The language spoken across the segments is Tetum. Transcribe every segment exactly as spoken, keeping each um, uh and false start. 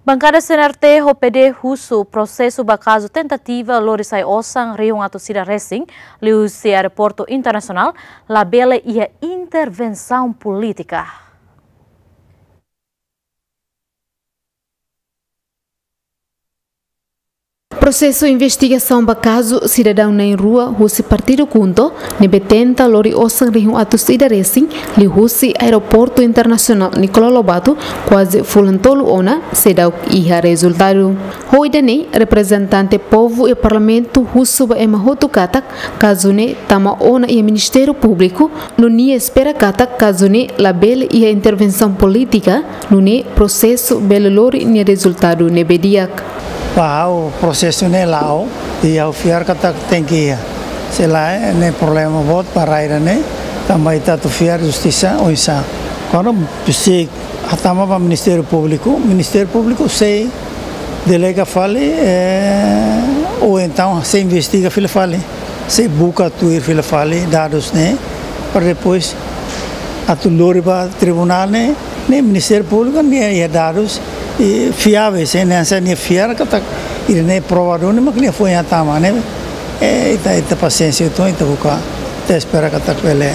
Bankada C N R T ho P D husu prosesu ba kazu tentativa lori sai osan rihun atus ida resin liuhusi aeroportu internasionál labele iha intervensaun polítika. Prosesu investigasaun ba kazu sidadaun na'in rua husi partidu KHUNTO ne'ebé tenta lori osan rihun atus ida resin liuhusi aeroportu internasionál Nicolau Lobato kuaze fulan tolu ona seidauk iha rezultadu. Ho ida-ne'e, reprezentante povu iha parlamentu husu ba ema hotu katak kazu ne'e tama ona iha Ministériu Públiku, no nia espera katak kazu ne'e labele iha intervensaun polítika, nune'e prosesu bele lori nia rezultadu ne'ebé di'ak. Ba ha'u prosesu ne'e la'o, i ha'u fiar katak tenke iha. Se lae, ne'e problema boot ba rai ida-ne'e, tanba ita atu fiar justisa oinsá. Kuandu presiza hatama ba Ministériu Públiku, Ministériu Públiku sei delega fali, eh, ou entaun sei investiga fila fali, sei buka tuir fila fali dadus ne'e, para depois atu lori ba tribunál ne'e, ne'e Ministériu Públiku nia iha dadus i fiáveis, ne'e hanesan nia fiar katak ida-ne'e prova duni mak nia foin hatama ne'e. Eh, ita, ita pasiénsia uitoan, ita buka, ita espera katak bele,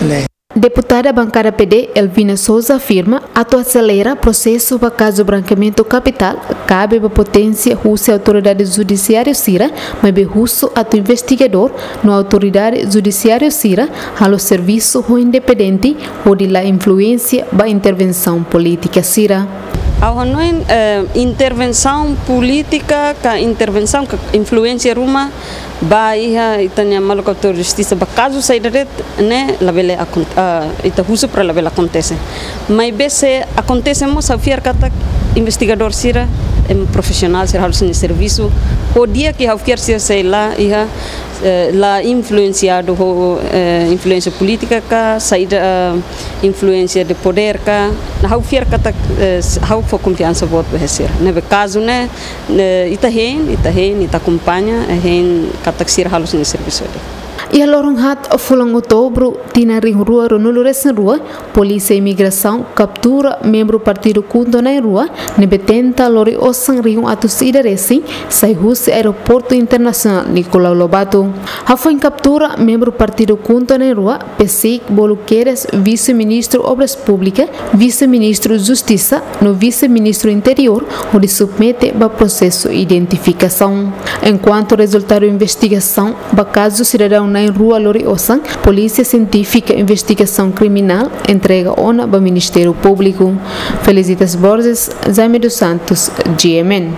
bele. Deputada bankada P D, Elvina Sousa, afirma atu aselera prosesu ba kazu brankeamentu kapitál kabe ba poténsia husi autoridade judisiáriu sira, maibé husu atu investigadór no autoridade judisiáriu sira halo servisu ho independente hodi la influénsia ba intervensaun polítika sira. Ha'u hanoin, eh, intervensaun polítika ka intervensaun ka influénsia ruma ba iha ita-nia maluk autór justisa ba kazu saida de'it ne'e labele akon-, ah, ita husu para labele akontese. Maibé se akontese mós ha'u fiar katak investigadór sira, em, profisionál sira halo sira-nia servisu. Ho di'ak, ha'u fiar sira sei la iha, eh, la influensiadu ho, eh, influénsia polítika ka saida, ah, influénsia de podér ka. Ha'u fiar katak, eh, s-, ha'u fó konfiansa boot ba sira. Ne'ebé kazu ne'e, eh, ita hein, ita hein, ita akompaña, eh, hein katak sira halo sira-nia servisu de'it. Iha loron haat fulan Outubru, tinan rihun rua ruanulu resin rua, Polísia Imigrasaun kaptura membru partidu KHUNTO na'in rua ne'ebé tenta lori osan rihun atus ida resin sai husi aeroportu internasionál Nicolau Lobato. Hafoin kaptura membru partidu KHUNTO na'in rua, PCIC bolu kedas Vise-Ministru Obras Públikas, Vise-Ministru Justisa no Vise-Ministru Interiór hodi submete ba prosesu identifikasaun. Enkuantu rezultadu investigasaun ba kazu sidadaun na'in rua lori osan, Polísia Sientífika Investigasaun Kriminál entrega ona ba Ministériu Públiku. Felicitas Borges, Jaime dos Santos, G M N.